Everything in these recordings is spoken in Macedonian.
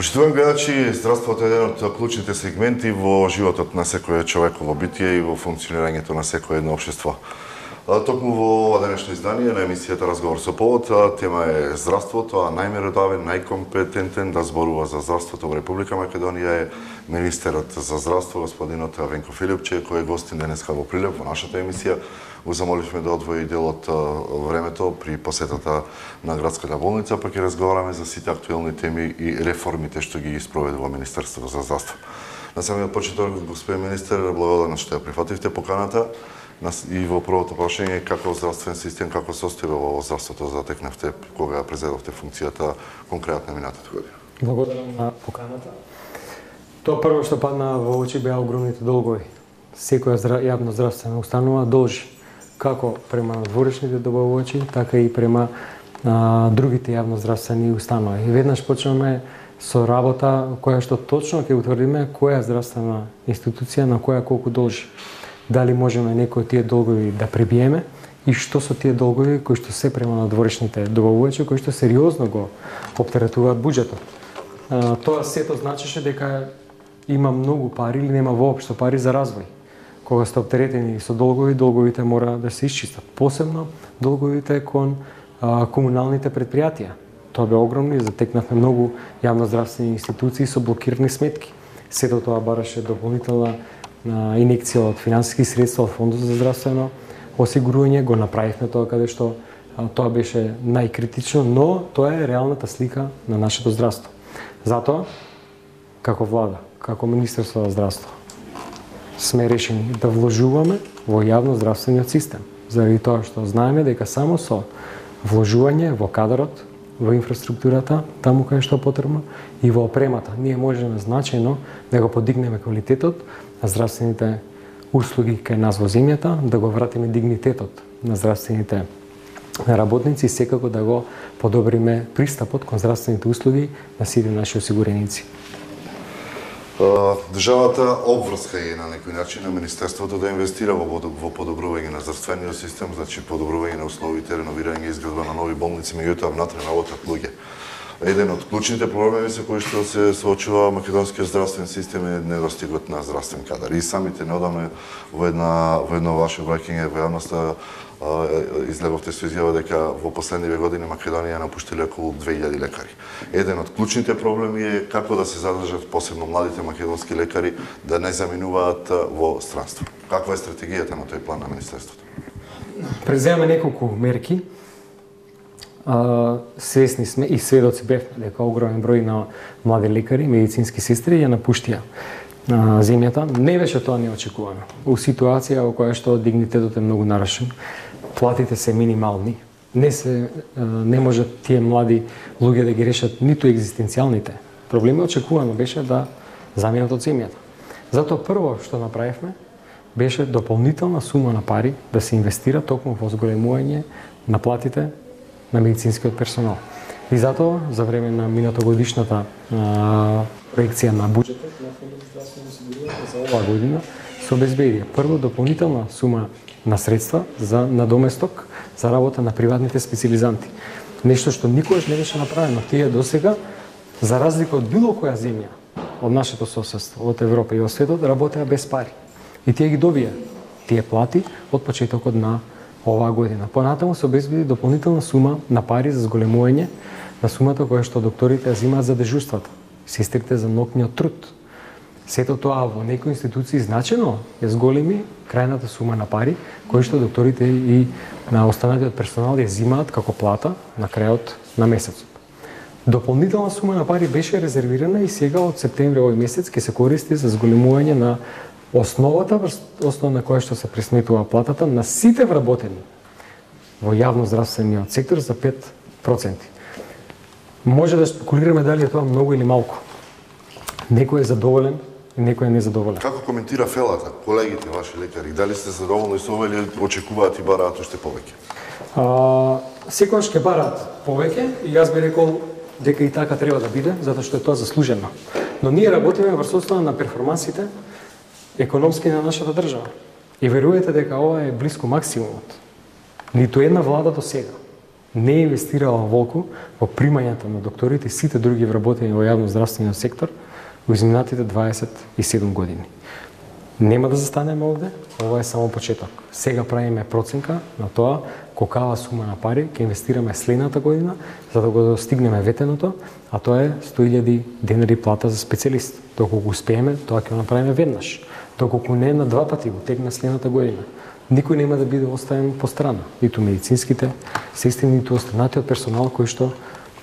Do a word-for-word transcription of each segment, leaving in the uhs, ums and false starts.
Почитувани гледачи, здравството е еден од клучните сегменти во животот на секој човеково битие и во функционирањето на секое едно општество. Токму во ова денешно издание на емисијата Разговор со повод, тема е здравството, а најмеродавен, најкомпетентен да зборува за здравството во Република Македонија е министерот за здравство, господинот Венко Филипче, кој е гостин денеска во Прилеп во нашата емисија. Го замоливме да одвои дел од времето при посетата на градската болница, па ќе разговараме за сите актуелни теми и реформите што ги спроведува Министерството за здравство. На самиот почеток, господин министер, благодарам што ја прифативте поканата. И во првото прашање, како здравствен систем, како состојба во здравството затекнавте кога презедовте функцијата конкретно минатата година? Благодарам на поканата. Тоа прво што падна во очи беа огромните долгови. Секоја јавна здравствена установа должи како према надворешните добавувачи, така и према а, другите јавноздравствени установи. И веднаш почнеме со работа која што точно ќе утврдиме која здравствена институција на која колку должи. Дали можеме некои од тие долгови да пребиеме и што со тие долгови кои што се према надворешните добавувачи, кои што сериозно го оптеретуваат буџетот. А, тоа сето значеше дека има многу пари или нема воопшто пари за развој. Кога сте оптеретени со долгови, долговите мора да се исчистат. Посебно долговите кон а, комуналните предпријатија. Тоа бе огромно и затекнавме многу јавноздравствени институции со блокирани сметки. Сето тоа бараше дополнителна а, инекција од финансиски средства од Фондот за здравствено осигурување. Го направивме тоа каде што а, тоа беше најкритично, но тоа е реалната слика на нашето здравство. Затоа, како влада, како Министерство за здравство, сме решени да вложуваме во јавноздравствениот систем, заради тоа што знаеме дека само со вложување во кадрот, во инфраструктурата, таму каде што е потребно, и во опремата, ние можеме значајно да го подигнеме квалитетот на здравствените услуги кај нас во земјата, да го вратиме дигнитетот на здравствените работници и секако да го подобриме пристапот кон здравствените услуги на сите наши осигуреници. Државата обврска е на некој начин на Министерството да инвестира во, во подобрување на здравствениот систем, значи подобрување на условите, реновирање и изградба на нови болници, меѓутоа внатре работат луѓе. Еден од клучните проблеми со кои што се соочува македонскиот здравствен систем е недостигот на здравствен кадар. И самите неодамна во една во едно ваше обраќање во јавноста излеговте со изјава дека во последниве години Македонија напуштиле околу две илјади лекари. Еден од клучните проблеми е како да се задржат посебно младите македонски лекари да не заминуваат во странство. Каква е стратегијата на тој план на Министерството? Преземаме неколку мерки. Uh, свесни сме и сведоци бевме дека огромен број на млади лекари, медицински сестри ја напуштија uh, земјата. Не беше тоа неочекувано. У ситуација во која што дигнитетот е многу нарушен, платите се минимални, не се uh, не можат тие млади луѓе да ги решат ниту екзистенцијалните проблеми, очекувано беше да заминат од земјата. Затоа прво што направивме беше дополнителна сума на пари да се инвестира токму во зголемување на платите на медицинскиот персонал. И затоа, за време на минатогодишната а, проекција на буџетот на Фондот за здравствено осигурување за оваа година се обезбедија прво дополнителна сума на средства за надоместок за работа на приватните специјализанти. Нешто што никогаш не беше направено. Тие досега, за разлика од било која земја од нашето соседство, од Европа и од светот, работеа без пари. И тие ги добија тие плати од почетокот на оваа година. Понатаму се обезбеди дополнителна сума на пари за зголемување на сумата која што докторите ја земаат за дежурствата, сестрите за ноќниот труд. Сето тоа во некои институции значено е зголеми крајната сума на пари кои што докторите и на останатиот персонал ја земаат како плата на крајот на месецот. Дополнителна сума на пари беше резервирана и сега од септември овој месец ќе се користи за зголемување на основата, основа на која што се пресметува платата на сите вработени во јавноздравствениот сектор за пет проценти. Може да спекулираме дали е тоа многу или малку. Некој е задоволен и некој е незадоволен. Како коментира фелата, колегите ваши лекари? Дали сте задоволни со ова или очекуваат и бараат уште повеќе? А, секогаш ќе бараат повеќе и јас би рекол дека и така треба да биде, затоа што е тоа заслужено. Но ние работиме врз основа на перформансите економски на нашата држава. И верувате дека ова е блиску максимумот. Ниту една влада до сега не е инвестирала волку во примањата на докторите и сите други вработени во јавно-здравствениот сектор во изминатите дваесет и седум години. Нема да застанеме овде, ова е само почеток. Сега правиме проценка на тоа колкава сума на пари ќе инвестираме следната година за да го достигнеме ветеното, а тоа е сто илјади денари плата за специјалист. Доколку успееме, тоа ќе го направиме веднаш. Доколку не, на два пати го тегна следната година. Никој нема да биде оставен по страна, ниту медицинските сестри, ниту останатиот персонал кој што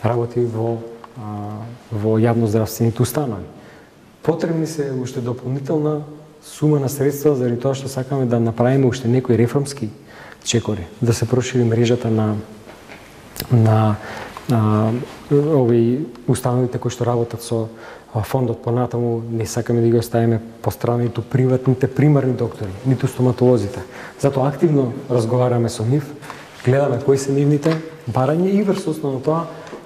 работи во а, во јавно-здравствените установи. Потребни се уште дополнителна сума на средства заради тоа што сакаме да направиме уште некои реформски чекори, да се прошири мрежата на на, на овие установите кои што работат со фондот. Понатаму не сакаме да ги оставиме по страна ниту приватните примарни доктори, ниту стоматолозите. Затоа активно разговараме со нив, гледаме кои се нивните барања и врз основа на тоа,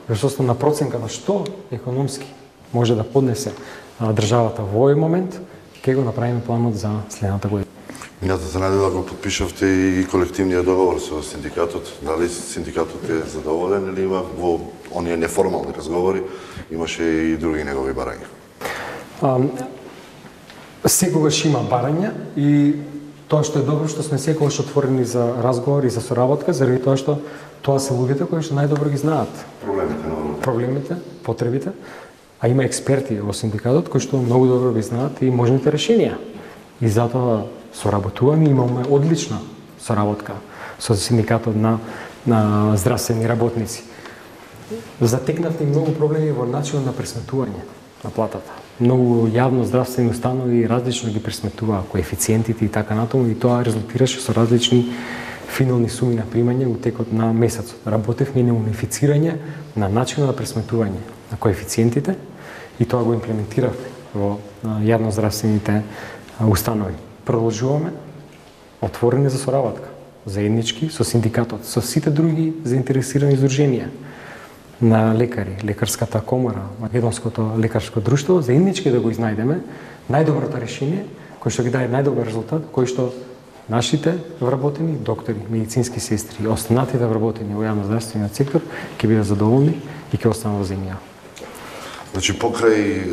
врз основа на проценка на што економски може да поднесе државата во овој момент, ќе го направиме планот за следната година. Минатата недела го подпишавте и колективниот договор со синдикатот. Дали синдикатот е задоволен или има во оние неформални разговори, имаше и други негови барања? А, секогаш има барања и тоа што е добро што сме секогаш отворени за разговор и за соработка, заради тоа што тоа се луѓето кои што најдобро ги знаат Проблемите на проблемите, потребите, а има експерти во синдикатот кои што многу добро ги знаат и можните решенија. И затоа соработуваме, имаме одлична соработка со синдикатот на на здравствени работници. Затекнавме многу проблеми во начинот на пресметување на платата. Многу јавно здравствени установи различно ги пресметуваа коефициентите и така натаму, и тоа резултираше со различни финални суми на примање во текот на месецот. Работевме на унифицирање на начинот на пресметување на коефициентите и тоа го имплементиравме во јавно здравствените установи. Продолжуваме отворени за соработка, заеднички со синдикатот, со сите други заинтересирани издруженија на лекари, лекарската комора, Македонското лекарско друштво, заеднички да го изнајдеме најдоброто решение кој што ги даде најдобар резултат, кој што нашите вработени доктори, медицински сестри и останатите вработени во јавно-здравствениот сектор ќе бидат задоволни и ќе останат во земја. Значи, покрај е,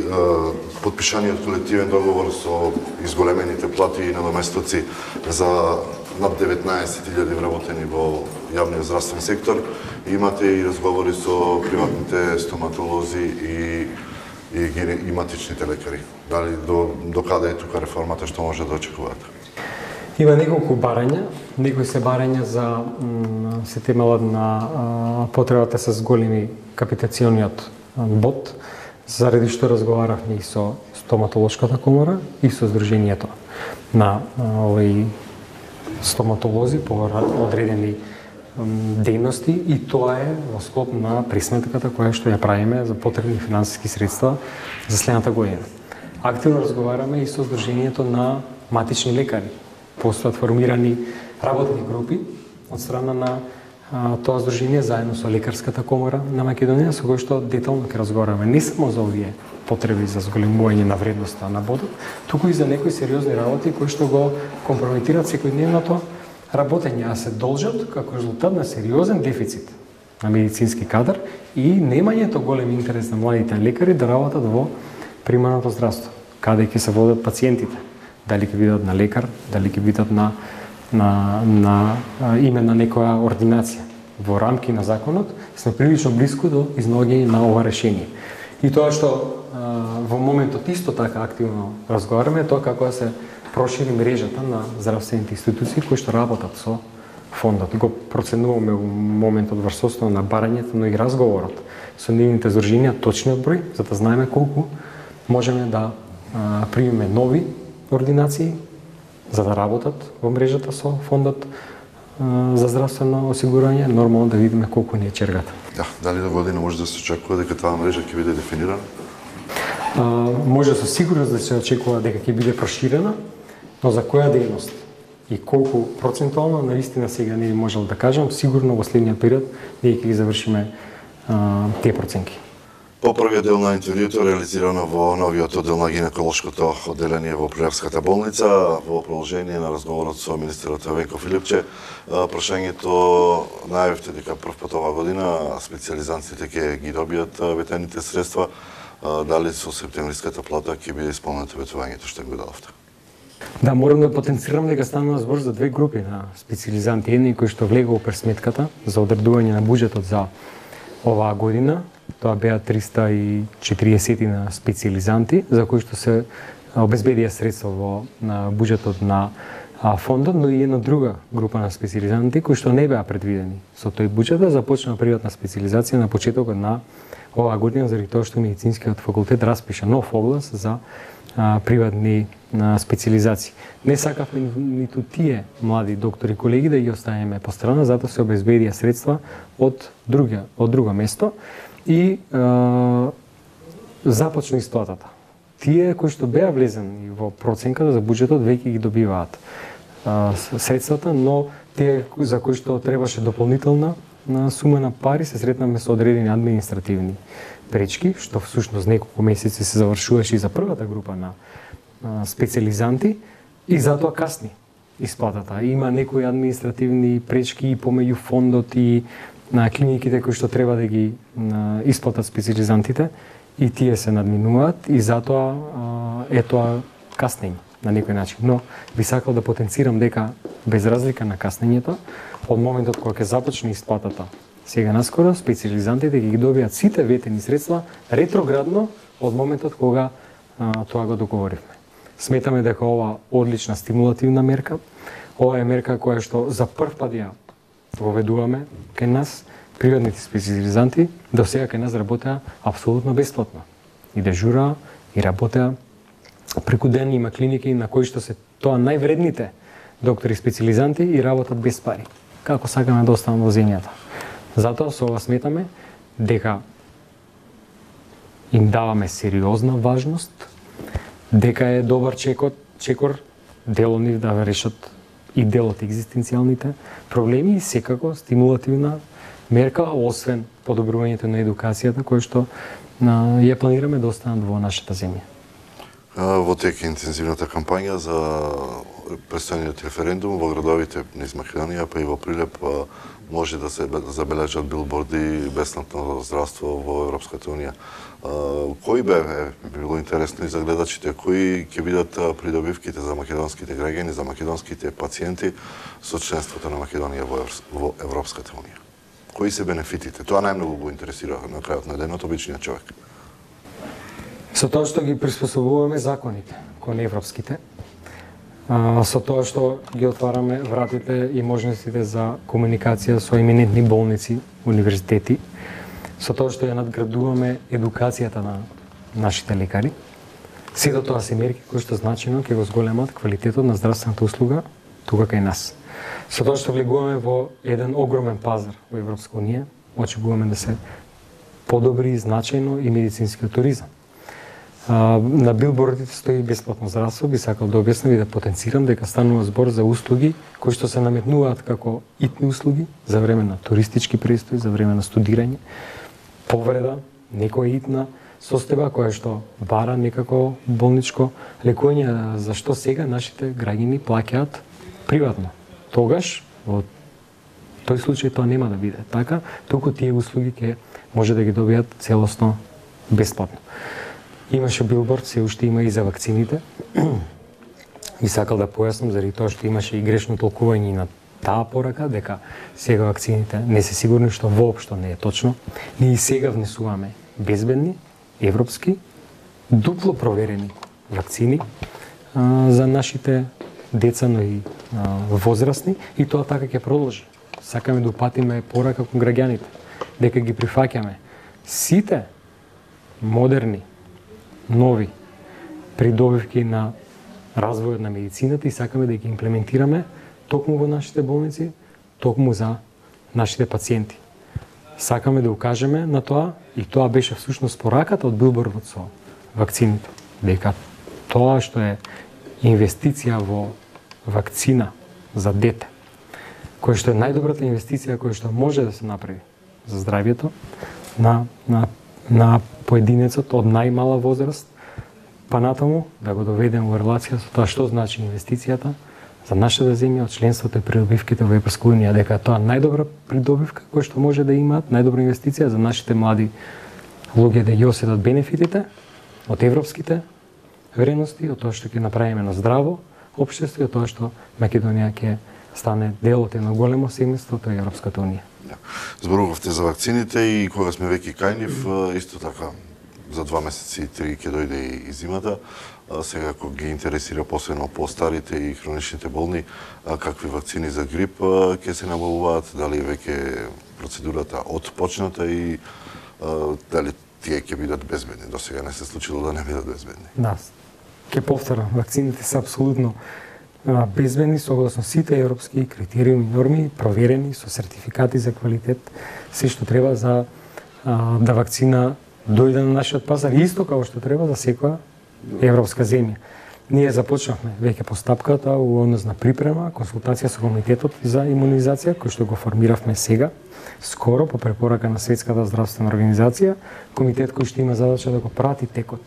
подпишаниот колективен договор со изголемените плати и надоместоци за над деветнаесет илјади вработени во јавниот здравствен сектор, имате и разговори со приватните стоматолози и и, и матичните лекари. Дали до, до каде е тука реформата, што може да очекувате? Има неколку барања, некои се барања за се темелат на а, потребата со големи капитациониот бод, заради што разговаравме и со стоматолошката комора и со Сдруженијето на овои стоматолози по одредени дејности, и тоа е во склоп на присметката која што ја правиме за потребни финансиски средства за следната година. Активно разговараме и со Сдруженијето на матични лекари. Постојат формирани работни групи од страна на а, тоа здружение заедно со лекарската комора на Македонија, со кој што детално ќе разговараме не само за овие потреби за зголемување на вредноста на бодот, туку и за некои сериозни работи кои што го компрометираат секојдневното работење, а се должат како резултат на сериозен дефицит на медицински кадар и немањето голем интерес на младите лекари да работат во примарното здравство, каде ќе се водат пациентите, дали ќе бидат на лекар, дали ќе бидат на на на име на некоја ординација. Во рамки на законот сме прилично блиску до изнаоѓање на ова решение. И тоа што а, во моментот исто така активно разговараме, тоа како да се прошири мрежата на здравствените институции кои што работат со фондот. Го проценуваме во моментот врз основа на барањето, но и разговорот со нивните здруженија, точниот број, за да знаеме колку можеме да а, примеме нови ординации за да работат во мрежата со фондот а, за здравствено осигурување, нормално да видиме колку ни е чергата. Да, дали до година може да се очекува дека таа мрежа ќе биде дефинирана? А, може со сигурност да се очекува дека ќе биде проширена, но за која дејност и колку процентуално, наистина сега не би можел да кажам, сигурно во следниот период ние ќе ги завршиме а, тие проценки. По првиот дел на интервјуто реализирано во новиот оддел на гинеколошкото одделение во Прилепската болница, во продолжение на разговорот со министерот Венко Филипче, прашањето најавивте дека прв пат оваа година специјализантите ќе ги добијат ветените средства, дали со септемвриската плата ќе биде исполнето ветувањето што го дадовте? Да, морам да потенцирам дека станува збор за две групи на специјализанти, едни кои што влегува у пресметката за одредување на буџетот за оваа година. Тоа беа триста и четириесет на специјализанти за кои што се обезбедија средства во на буџетот на фондот, но и една друга група на специјализанти кои што не беа предвидени со тој буџет, започна приватна специјализација на почетокот на оваа година заради тоа што медицинскиот факултет распиша нов оглас за а, приватни а, специјализации. Не сакавме ниту тие млади доктори колеги да ги оставиме по страна, затоа се обезбедија средства од друга од друго место и а, започна исплатата. Тие кои што беа влезени во проценката за буџетот веќе ги добиваат а, средствата, но тие за кои што требаше дополнителна на сума на пари се сретнаме со одредени административни пречки, што всушност неколку месеци се завршуваше и за првата група на а, специјализанти и затоа касни исплатата. Има некои административни пречки и помеѓу фондот и на клиниките кои што треба да ги а, исплатат специјализантите и тие се надминуваат и затоа а, е тоа каснење на некој начин. Но би сакал да потенцирам дека без разлика на каснењето, од моментот кога ќе започне исплатата сега наскоро, специјализантите ќе ги добијат сите ветени средства ретроградно од моментот кога а, тоа го договоривме. Сметаме дека ова одлична стимулативна мерка, ова е мерка која што за прв пат ја воведуваме кај нас. Приватните специјализанти до сега кај нас работеа апсолутно бесплатно. И дежураа, и работеа преку ден, има клиники на кои што се тоа највредните доктори специјализанти и работат без пари. Како сакаме да останат во земјата. Затоа со ова сметаме дека им даваме сериозна важност, дека е добар чекор, чекор дел од нив да решат и дел од екзистенцијалните проблеми и секако стимулативна мерка, освен подобрувањето на едукацијата која што на, ја планираме да останат во нашата земја. Во тек интензивната кампања за престојниот референдум во градовите низ Македонија, па и во Прилеп, може да се забележат билборди бесплатно здравство во Европската унија. Кои бе, би било интересно и за гледачите, кои ќе бидат придобивките за македонските граѓани, за македонските пациенти со членството на Македонија во Европската унија? Кои се бенефитите? Тоа најмногу го интересира на крајот на денот обичниот човек. Со тоа што ги приспособуваме законите кон европските, а, со тоа што ги отвараме вратите и можностите за комуникација со еминентни болници, универзитети, со тоа што ја надградуваме едукацијата на нашите лекари, сето тоа се мерки кои што значено ќе го зголемат квалитетот на здравствената услуга тука кај нас. Со тоа што влегуваме во еден огромен пазар во Европска унија, очекуваме да се подобри значајно и медицинскиот туризам. А, на билбордите стои бесплатно здравство, би сакал да објаснам и да потенцирам дека станува збор за услуги кои што се наметнуваат како итни услуги за време на туристички престој, за време на студирање, повреда, некоја итна состојба која што бара некако болничко лекување, зашто сега нашите граѓани плаќаат приватно. Тогаш, во тој случај тоа нема да биде така, туку тие услуги ќе може да ги добијат целосно бесплатно. Имаше билборд, се уште има и за вакцините. Би сакал да појаснам заради тоа што имаше и грешно толкување на таа порака, дека сега вакцините не се сигурни, што воопшто не е точно. Ние и сега внесуваме безбедни, европски, дупло проверени вакцини а, за нашите деца, но и а, возрастни, и тоа така ќе продолжи. Сакаме да упатиме порака кон граѓаните, дека ги прифаќаме сите модерни, нови придобивки на развојот на медицината и сакаме да ги имплементираме токму во нашите болници, токму за нашите пациенти. Сакаме да укажеме на тоа и тоа беше всушност пораката од билбордот со вакцините, дека тоа што е инвестиција во вакцина за дете, која што е најдобрата инвестиција која што може да се направи за здравјето на, на на поединецот од најмала возраст па натаму, да го доведеме во релација со тоа што значи инвестицијата за нашата земја од членството и придобивките во Европска унија, дека тоа најдобра придобивка која што може да имаат, најдобра инвестиција за нашите млади луѓе да ги осетат бенефитите од европските вредности, од тоа што ќе направиме на здраво општество и од тоа што Македонија ќе стане дел од едно големо семејство, тоа е Европската унија. Зборувавте за вакцините и кога сме веќе кај нив, исто така за два месеци и три ќе дојде и зимата. Сега ако ги интересира посебно по-старите и хроничните болни, какви вакцини за грип ќе се набавуваат, дали веќе процедурата отпочната и дали тие ќе бидат безбедни. До сега не се случило да не бидат безбедни. Да, ќе повторам, вакцините се апсолутно безбедни согласно сите европски критериуми и норми, проверени со сертификати за квалитет, се што треба за а, да вакцина дојде на нашиот пазар, исто како што треба за секоја европска земја. Ние започнавме веќе постапката во однос на припрема, консултација со комитетот за имунизација, кој што го формиравме сега, скоро по препорака на Светската здравствена организација, комитет кој што има задача да го прати текот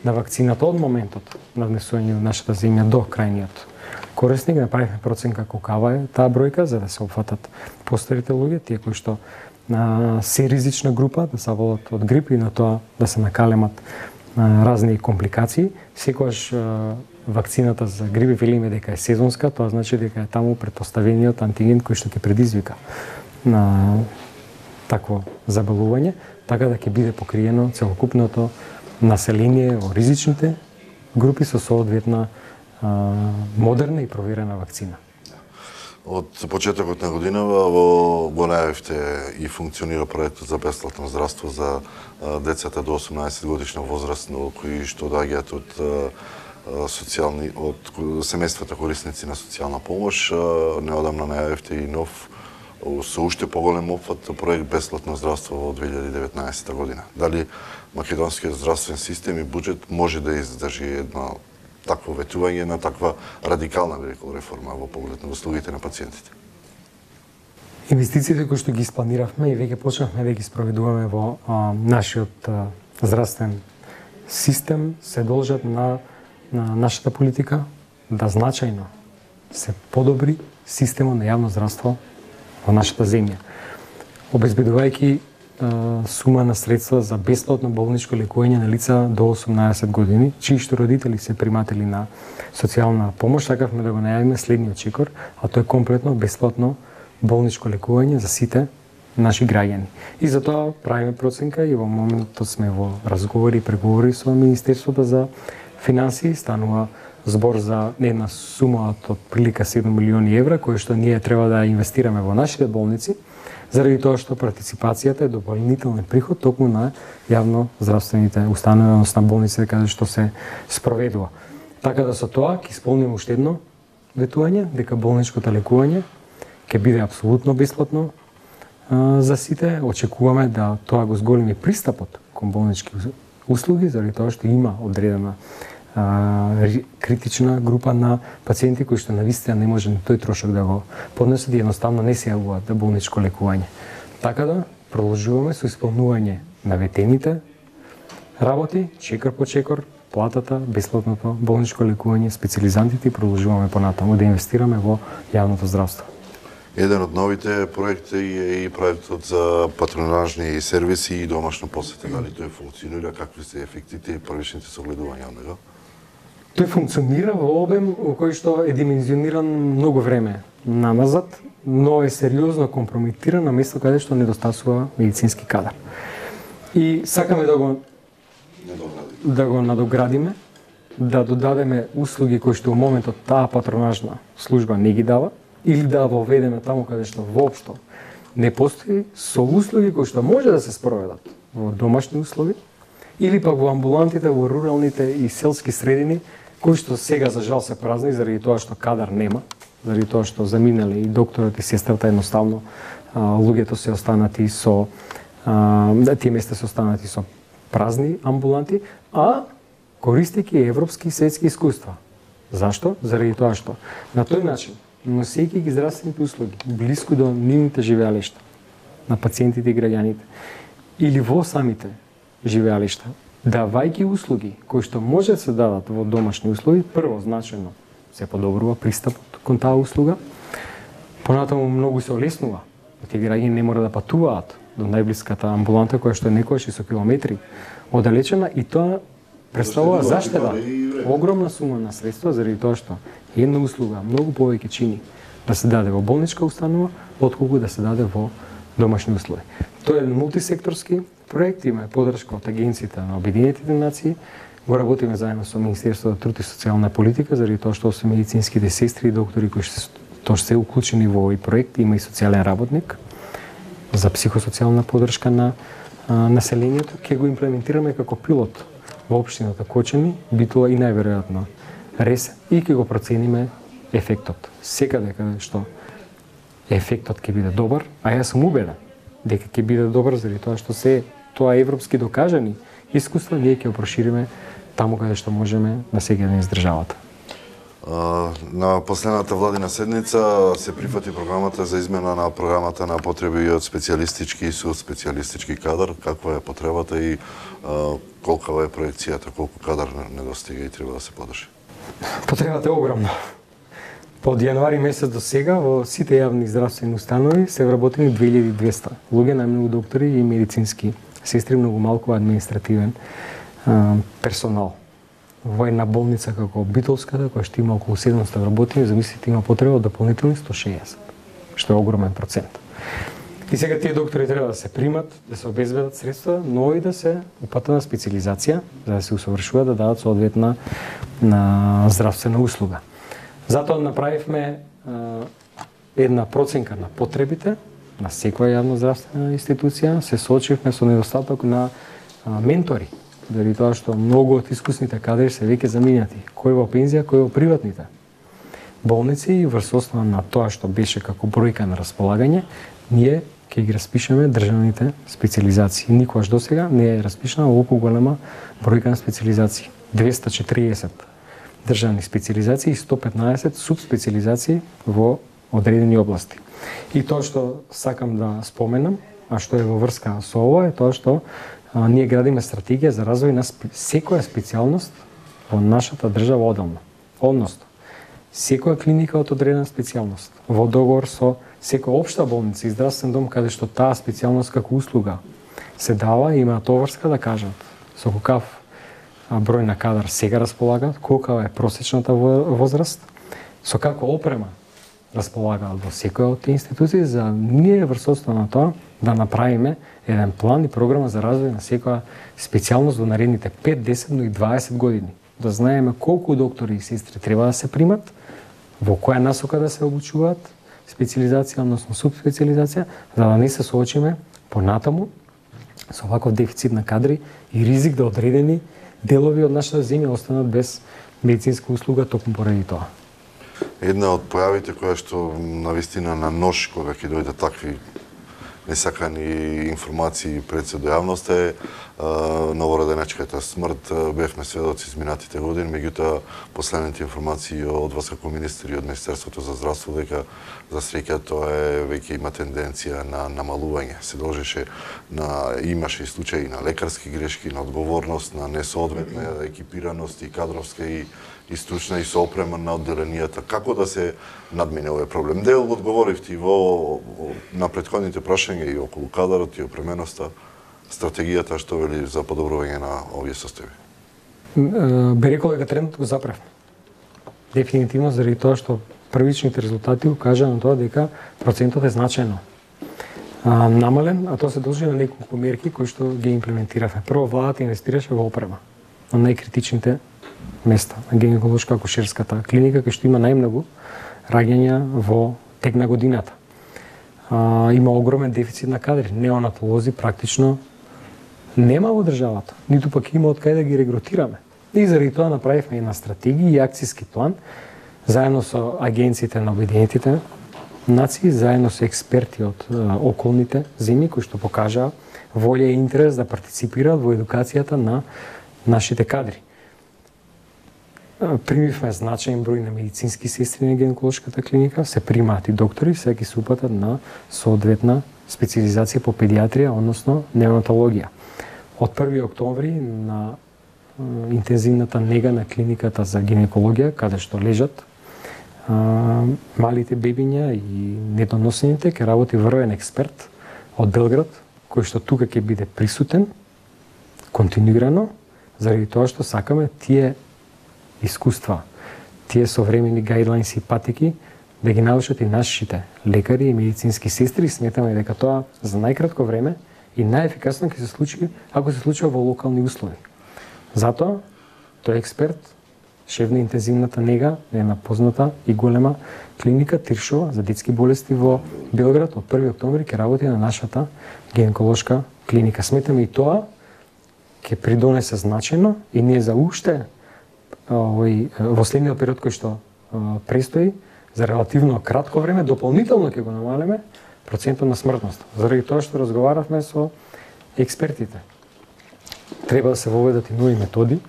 на вакцината од моментот на внесување во нашата земја до крајниот корисник. Направивме проценка колкава е таа бројка за да се опфатат постарите луѓе, тие кои што на се ризична група да се волат од грип и на тоа да се накалемат а, разни компликации. Секогаш а, вакцината за грип велиме дека е сезонска, тоа значи дека е таму претпоставениот антиген кој што ќе предизвика на такво заболување, така да ќе биде покриено целокупното население во ризичните групи со соодветна а, модерна и проверена вакцина. Од почетокот на годинава во го најавивте и функционира проектот за бесплатно здравство за децата до осумнаесет годишна возраст, но кои што доаѓаат од социјални од семејствата корисници на социјална помош. Неодамна најавивте и нов со уште поголем опфат проект бесплатно здравство во две илјади и деветнаесетта година. Дали македонскиот здравствен систем и буџет може да издржи едно такво ветување на таква радикална, би рекол, реформа во поглед на услугите на пациентите? Инвестициите кои што ги испланиравме и веќе почнавме да ги спроведуваме во а, нашиот а, здравствен систем се должат на, на нашата политика да значајно се подобри системот на јавно здравство во нашата земја, обезбедувајќи сума на средства за бесплатно болничко лекување на лица до осумнаесет години, чии што родители се приматели на социјална помош. Сакавме да го најавиме следниот чекор, а тоа е комплетно бесплатно болничко лекување за сите наши граѓани. И затоа правиме проценка и во моментот сме во разговори и преговори со Министерството за финансии. Станува збор за една сума од прилика седум милиони евра, кои што ние треба да инвестираме во нашите болници, заради тоа што партиципацијата е дополнителен приход токму на јавно здравствените установи, односно на болниците каде што се спроведува. Така да со тоа ќе исполниме уште едно ветување, дека болничкото лекување ќе биде апсолутно бесплатно а, за сите. Очекуваме да тоа го зголеми пристапот кон болнички услуги, заради тоа што има одредена а, критична група на пациенти кои што навистина не може ни тој трошок да го поднесат и едноставно не се јавуваат за болничко лекување. Така да продолжуваме со исполнување на ветените работи, чекор по чекор, платата, бесплатното болничко лекување, специјализантите и продолжуваме понатаму да инвестираме во јавното здравство. Еден од новите проекти е и проектот за патронажни сервиси и домашна посета. Дали тој функционира, какви се ефектите и првичните согледувања од него? Тој функционира во обем во кој што е димензиониран многу време намазад, но е сериозно компрометиран на место каде што недостасува медицински кадар. И сакаме да го да го надоградиме, да додадеме услуги кои што во моментот таа патронажна служба не ги дава, или да воведеме таму каде што воопшто не постои, со услуги кои што може да се спроведат во домашни услови, или пак во амбулантите во руралните и селски средини, кои што сега за жал се празни заради тоа што кадар нема, заради тоа што заминале и докторот и сестрата, едноставно а, луѓето се останати со а, тие места се останати со празни амбуланти, а користејќи европски и светски искуства. Зашто? Заради тоа што на тој начин, носејќи ги здравствените услуги блиску до нивните живеалишта на пациентите и граѓаните или во самите живеалишта, давајќи услуги кои што може да се дадат во домашни услови, прво значајно се подобрува пристапот кон таа услуга, понатаму многу се олеснува. Тие граѓани не мора да патуваат до најблиската амбуланта која што е некојаш и со километри оддалечена, и тоа представува заштеда, огромна сума на средства, заради тоа што една услуга многу повеќе чини да се даде во болничка установа, отколку да се даде во домашни услови. Тоа е мултисекторски проект, има поддршка од Агенцијата на Обединетите нации. Го работиме заедно со Министерството за труд и социјална политика, заради тоа што се медицинските сестри и доктори кои што тоа се уклучени во овој проект, има и социјален работник за психосоцијална поддршка на а, населението. Ќе го имплементираме како пилот во општината Кочани, би тоа и најверојатно Ресен, и ќе го процениме ефектот. Секаде каде што ефектот ќе биде добар, а јас сум убеден дека ќе биде добар заради тоа што се тоа европски докажани искуства, ние ќе го прошириме таму каде што можеме на секој ден из државата. На последната владина седница се прифати програмата за измена на програмата на потреби од специјалистички и специјалистички кадар. Каква е потребата и а, колкава е проекцијата, колку кадар недостига и треба да се подржи? Потребата е огромна. Од јануари месец до сега во сите јавни здравствени установи се вработени две илјади и двесте луѓе, најмногу доктори и медицински сестри, многу малку административен а, персонал. Во една болница како Битолската, која што има околу седумстотини вработени, замислите, има потреба од дополнителни сто шеесет, што е огромен процент. И сега тие доктори треба да се примат, да се обезбедат средства, но и да се упатат на специализација, за да се усовршуваат, да дадат соодветна на здравствена услуга. Затоа направивме а, една проценка на потребите на секоја јавна здравствена институција, се соочивме со недостаток на а, ментори, заради тоа што многу од искусните кадри се веќе заминати, кој во пензија, кој во приватните болници, и врз основа на тоа што беше како бројка на располагање, ние ќе ги распишеме државните специализации. Никогаш досега не е распишана оволку голема бројка на специализации. двесте и четириесет државни специализации и сто петнаесет субспециализации во одредени области. И тоа што сакам да споменам, а што е во врска со ова, е тоа што а, ние градиме стратегија за развој на спе... секоја специјалност во нашата држава одделно. Односно, секоја клиника од одредена специјалност во договор со секоја општа болница и здравствен дом каде што таа специјалност како услуга се дава, има товарска да кажат со какав број на кадар сега располагаат, колка е просечната возраст, со каква опрема располагаат во секоја од тие институции, за ние врз основа на тоа да направиме еден план и програма за развој на секоја специјалност во наредните пет, десет, но и дваесет години. Да знаеме колку доктори и сестри треба да се примат, во која насока да се обучуваат, специализација, односно субспециализација, за да не се соочиме понатаму со ваков дефицит на кадри и ризик да одредени делови од нашата земја останат без медицинска услуга токму поради тоа. Една од појавите која што навистина на нож кога ќе дојдат такви несакани информации пред се до јавноста е новороденечката смрт. Бевме сведоци изминатите години, меѓутоа последните информации од вас како министри од Министерството за здравство дека за среќа тоа е веќе има тенденција на намалување. Се должеше на имаше и случаи на лекарски грешки, на одговорност, на несоодветна екипираност и кадровска и и стручна и со опрема на одделенијата. Како да се надмине овој проблем? Дел одговоривте во на претходните прашања и околу кадарот и опременоста, стратегијата што вели за подобрување на овие состојби. Би рекол дека трендот го заправме. Дефинитивно заради тоа што првичните резултати укажа на тоа дека процентот е значајно а, намален, а тоа се должи на неколку мерки кои што ги имплементиравме. Прво, владата инвестираше во опрема на најкритичните места, на гинеколошка акушерската клиника, кај што има најмногу раѓања во тек на годината. А, има огромен дефицит на кадри. Неонатолози практично нема во државата, ниту пак има од кај да ги регрутираме. И заради тоа направивме една стратегија и акцијски план, заедно со агенциите на Обединетите нации, заедно со експерти од а, околните земји, кои што покажаа волја и интерес да партиципираат во едукацијата на нашите кадри. Примивме значаен број на медицински сестри на гинеколошката клиника, се примаат и доктори, сега ќе се упатат на соодветна специализација по педиатрија, односно неонатологија. од први октомври на интензивната нега на клиниката за гинекологија, каде што лежат а, малите бебиња и недоносените, ќе работи врвен експерт од Белград, кој што тука ќе биде присутен континуирано, заради тоа што сакаме тие искуства, тие современи гайдлайнси и патики да ги научат и нашите лекари и медицински сестри. Сметаме дека тоа за најкратко време и најефикасно ќе се случи ако се случува во локални услови. Затоа тој експерт, шеф на интензивната нега, е една позната и голема клиника Тиршова за детски болести во Белград, од први октомври ќе работи на нашата гинеколошка клиника. Сметаме и тоа ќе придонесе значајно и ние за уште овој во следниот период кој што престои за релативно кратко време дополнително ќе го намалиме процентот на смртност. Заради тоа што разговаравме со експертите. Треба да се воведат и нови методи,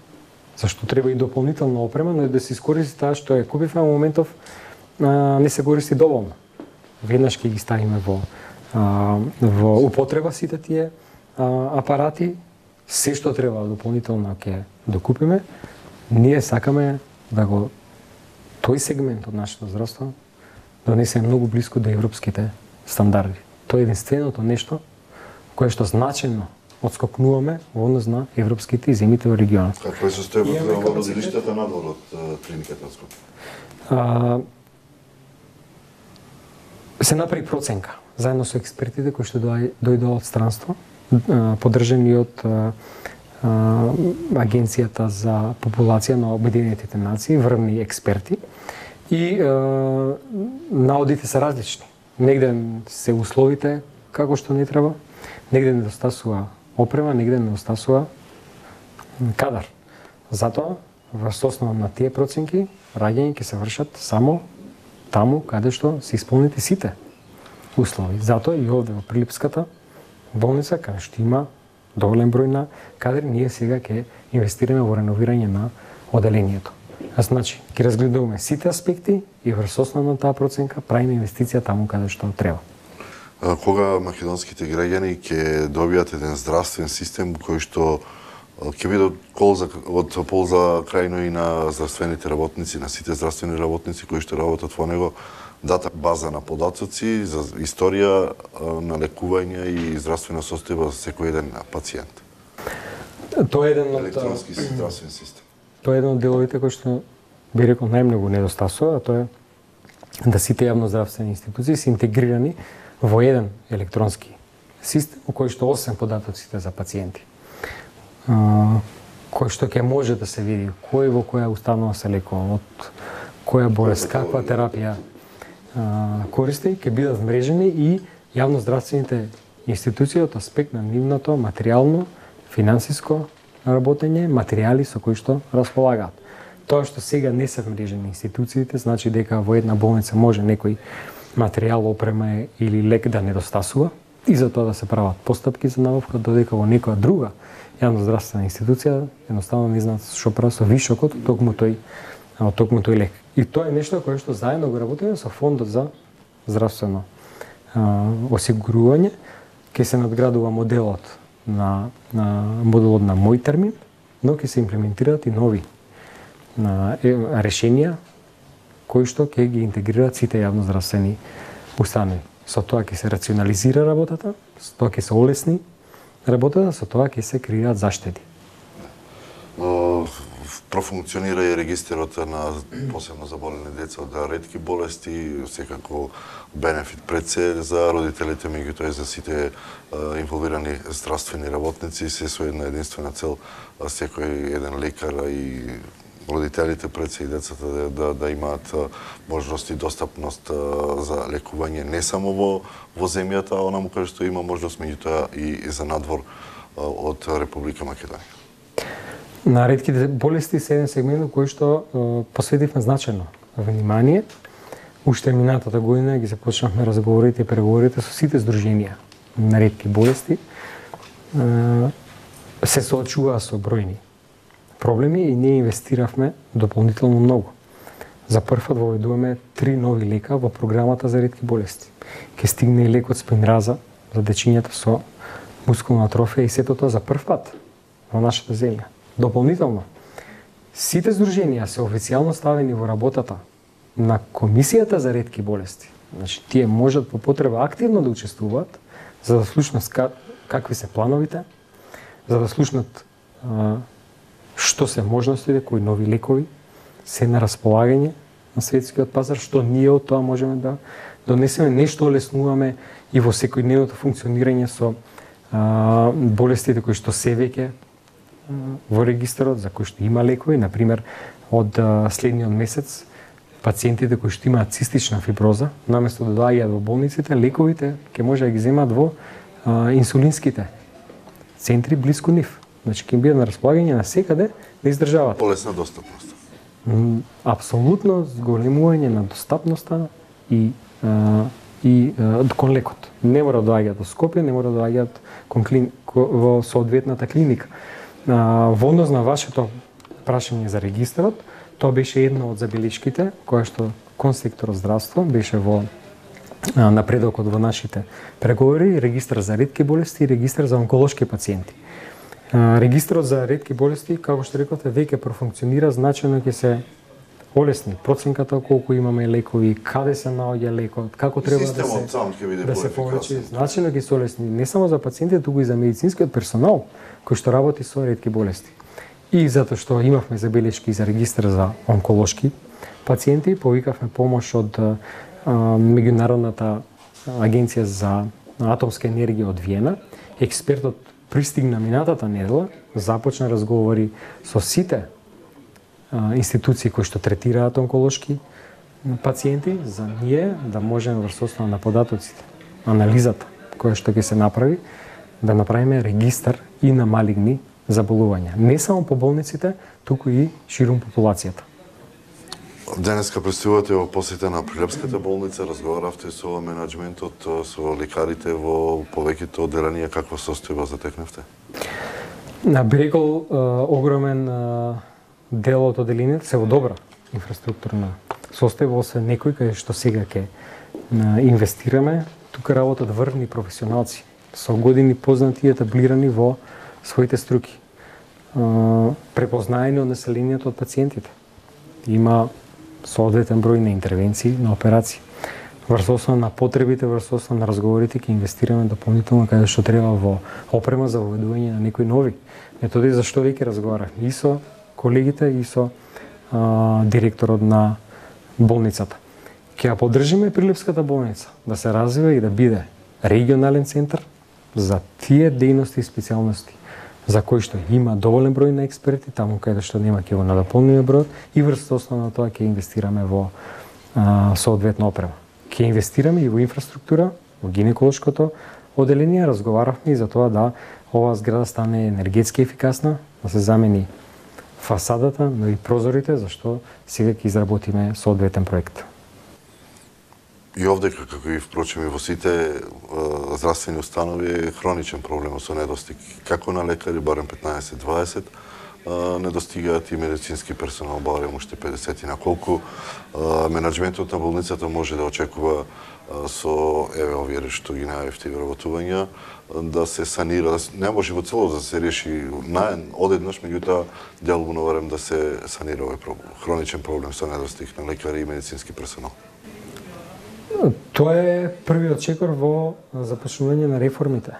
зашто треба и дополнителна опрема, но и да се искористи таа што ја купивме во моментов а, не се користи доволно. Веднаш ќе ги ставиме во а, во употреба сите тие а, апарати, се што треба дополнително ќе докупиме. Ние сакаме да го тој сегмент од нашето здравство донесе многу блиску до европските стандарди. Тоа е единственото нешто кое што значајно отскокнуваме во однос на европските и земите во регионот. Какво е состојбото во родилиштата надвор од клиниката на Скопје? А, се направи проценка заедно со експертите кои што дојдоа од странство, поддржани од а, а, Агенцијата за популација на Обединетите нации, врвни експерти. И а, наодите се различни. Негде се условите како што не треба, негде недостасува опрема, негде недостасува кадар. Затоа, врз основа на тие проценки, раѓања ќе се вршат само таму каде што се исполнити сите услови. Затоа и овде во Прилипската болница, каде што има доволен број на кадри, ние сега ќе инвестираме во реновирање на оделението. Значи, ќе разгледуваме сите аспекти и врз основа на таа проценка правиме инвестиција таму каде што треба. Кога македонските граѓани ќе добијат еден здравствен систем кој што ќе биде од полза, од полза крајно и на здравствените работници, на сите здравствени работници кои што работат во него, дата база на податоци за историја на лекување и здравствена состојба за секој еден пациент. Тоа е еден од електронски здравствен систем. Тоа е еден од деловите кои што би рекол најмногу недостасува, а тоа е да сите јавноздравствени институции се интегрирани во еден електронски систем во кој што освен податоците за пациенти, кој што ќе може да се види кој во која установа се лекува, од која болест, каква терапија користи, ќе бидат вмрежени и јавноздравствените институции од аспект на нивното материјално, финансиско работење, материјали со кои што располагаат. Тоа што сега не се вмрежени институциите, значи дека во една болница може некој материјал, опрема или лек да недостасува и за тоа да се прават постапки за набавка, додека во некоја друга јавноздравствена институција едноставно не знаат што прават со вишокот од токму тој од токму тој лек. И тоа е нешто кое што заедно го работиме со Фондот за здравствено а, осигурување. Ќе се надградува моделот на, на моделот на мој термин, но ќе се имплементираат и нови на, е, решенија кои што ќе ги интегрираат сите јавноздравствени установи. Со тоа ќе се рационализира работата, со тоа ќе се олесни работата, со тоа ќе се креираат заштеди. Профункционира и регистерот на посебно заболени деца од ретки болести, секако бенефит пред се за родителите, меѓутоа и за сите инволвирани здравствени работници, се со една единствена цел секој еден лекар и родителите пред се и децата да, да, да имаат можност и достапност за лекување не само во, во земјата, а онаму каде што има можност, меѓутоа и за надвор од Република Македонија. На ретките болести се еден сегмент кој што е, посветивме значајно внимание. Уште минатата година ги започнавме разговорите и преговорите со сите здруженија на ретки болести. Е, се соочуваа со бројни проблеми и ние инвестиравме дополнително многу. За прв пат воведуваме три нови лека во програмата за ретки болести. Ке стигне и лекот Спинраза за дечињата со мускулна атрофија и сето тоа за прв пат. во нашата земја. Дополнително, сите здруженија се официјално ставени во работата на Комисијата за ретки болести. Значи, тие можат по потреба активно да учествуваат, за да слушнат какви се плановите, за да слушнат а, што се можностите, кои нови лекови се на располагање на светскиот пазар, што ние од тоа можеме да донесеме, нешто олеснуваме и во секојдневното функционирање со а, болестите кои што се веќе во регистарот, за кои што има лекови. Например, од а, следниот месец, пациентите кои што имаат цистична фиброза, наместо да доаѓаат во болниците, лековите ќе може да ги земат во а, инсулинските центри блиску нив. Значи, ќе им биде на располагање на секаде да издржават. Полесна достапност. Апсолутно зголемување на достапноста и а, и а, кон лекот. Не мора да доаѓаат до Скопје, не мора да доаѓаат кон клин, во соодветната клиника. А, во однос на вашето прашање за регистарот, тоа беше една од забелешките која што кон секторот здравство беше во а, напредокот во нашите преговори, регистар за ретки болести и регистар за онколошки пациенти. А, регистарот за ретки болести, како што рековте, веќе профункционира, значајно ќе се олесни проценката колку имаме лекови, каде се наоѓа лекот, како треба да се сам ќе биде да се повлечи, значајно ќе се олесни не само за пациентите, туку и за медицинскиот персонал кој што работи со ретки болести. И затоа што имавме забелешки за регистар за онколошки пациенти, повикавме помош од а, меѓународната агенција за атомска енергија од Виена. Експертот пристигна минатата недела, започна разговори со сите а, институции кои што третираат онколошки пациенти, за ние да можеме врз основа на податоците, анализата која што ќе се направи, да направиме регистар и на малигни заболувања. Не само по болниците, туку и ширум популацијата. Денеска пристигувате во посета на Прилепската болница, разговаравте со менаџментот, со лекарите во повеќето одделенија, каква состојба затекнавте? На Брегол огромен дел од одделението се во добра инфраструктурна состојба, освен некој кај што сега ќе инвестираме. Тука работат врвни професионалци со години познати и етаблирани во своите струки, препознаени од населението, од пациентите. Има соодветен број на интервенции, на операции. Врз основа на потребите, врз основа на разговорите ќе инвестираме дополнително каде што треба во опрема за воведување на некои нови методи, за што веќе разговарахме и со колегите и со а, директорот на болницата. Ќе ја поддржиме Прилепската болница да се развива и да биде регионален центар за тие дејности и специјалности за кои што има доволен број на експерти, таму каде што нема ќе го надополниме бројот и врз основа на тоа ќе инвестираме во а, соодветна опрема. Ќе инвестираме и во инфраструктура, во гинеколошкото одделение, разговаравме и за тоа да оваа зграда стане енергетски ефикасна, да се замени фасадата, но и прозорите, зашто сега ќе изработиме соодветен проект. И овдека, како и впрочем и во сите е, здравствени установи, е хроничен проблем со недостиг. Како на лекари, барем петнаесет до дваесет, недостигаат и медицински персонал, барем уште педесет. На колку менаџментот на болницата може да очекува со еве овие што ги најавивте вработувања, да се санира, да се, не може во целост да се реши наен одеднаш, меѓутоа делбуно барем да се санира овој проблем, хроничен проблем со недостиг на лекари и медицински персонал. Тоа е првиот чекор во започнување на реформите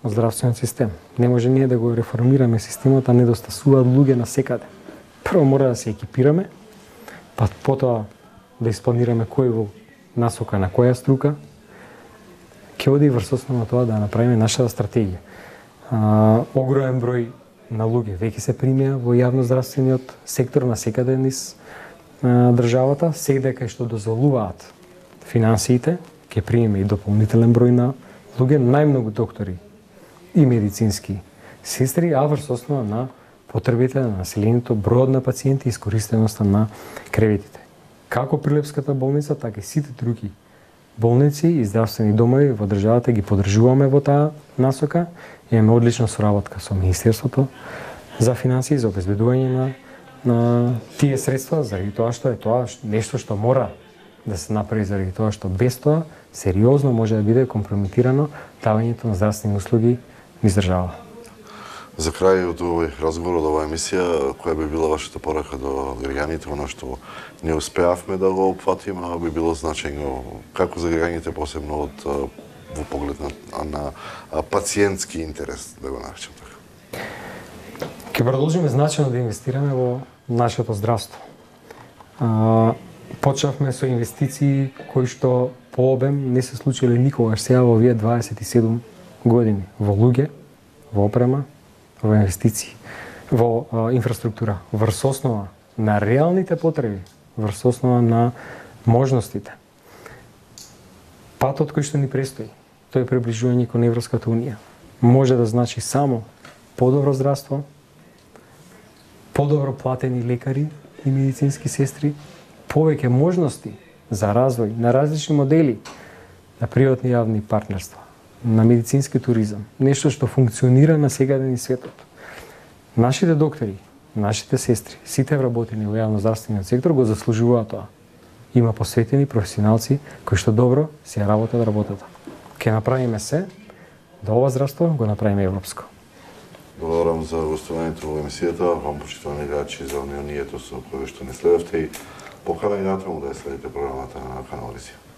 во здравствениот систем. Не може ние да го реформираме системот, а недостасуваат луѓе на секаде. Прво мора да се екипираме, па потоа да испланираме кој во насока на која струка ќе оди врз основа на тоа да направиме нашата стратегија. А, огромен број на луѓе веќе се примија во јавноздравствениот сектор на секаде низ а, државата, сега кај што дозволуваат финансиите, ќе примеме и дополнителен број на луѓе, најмногу доктори и медицински сестри, а врз основа на потребите на населението, бројот на пациенти и искористеноста на креветите. Како Прилепската болница, така и сите други болници и здравствени домови во државата ги поддржуваме во таа насока. Имаме одлична соработка со Министерството за финансии, за обезбедување на, на тие средства, заради тоа што е тоа нешто што мора да се направи, заради тоа што без тоа сериозно може да биде компрометирано давањето на здравствени услуги низ држава. За крај од овој разговор, од оваа емисија, која би била вашата порака до граѓаните, она што не успеавме да го опфатиме, а би било значајно како за граѓаните, посебно од во поглед на, на пациентски интерес, да го наречам така. Ќе продолжиме значајно да инвестираме во нашето здравство. А, почнавме со инвестиции кои што по обем не се случиле никогаш сега во овие дваесет и седум години во луѓе, во опрема, во инвестиции, во а, инфраструктура, врз основа на реалните потреби, врз основа на можностите. Патот кој што ни престои, тој е приближување кон Европската унија. Може да значи само подобро здравство, подобро платени лекари и медицински сестри, повеќе можности за развој на различни модели на приватни јавни партнерства, на медицински туризам, нешто што функционира на сегаден и светот. Нашите доктори, нашите сестри, сите вработени во јавноздравствениот сектор го заслужуваат тоа. Има посветени професионалци кои што добро си ја работат работата. Ке направиме се да ова здравство го направиме европско. Благодарам за гостувањето во емисијата, вам почитувани гледачи за вниманието со кое што не следевте и поканени натаму да ја следите програмата на канал Рисија.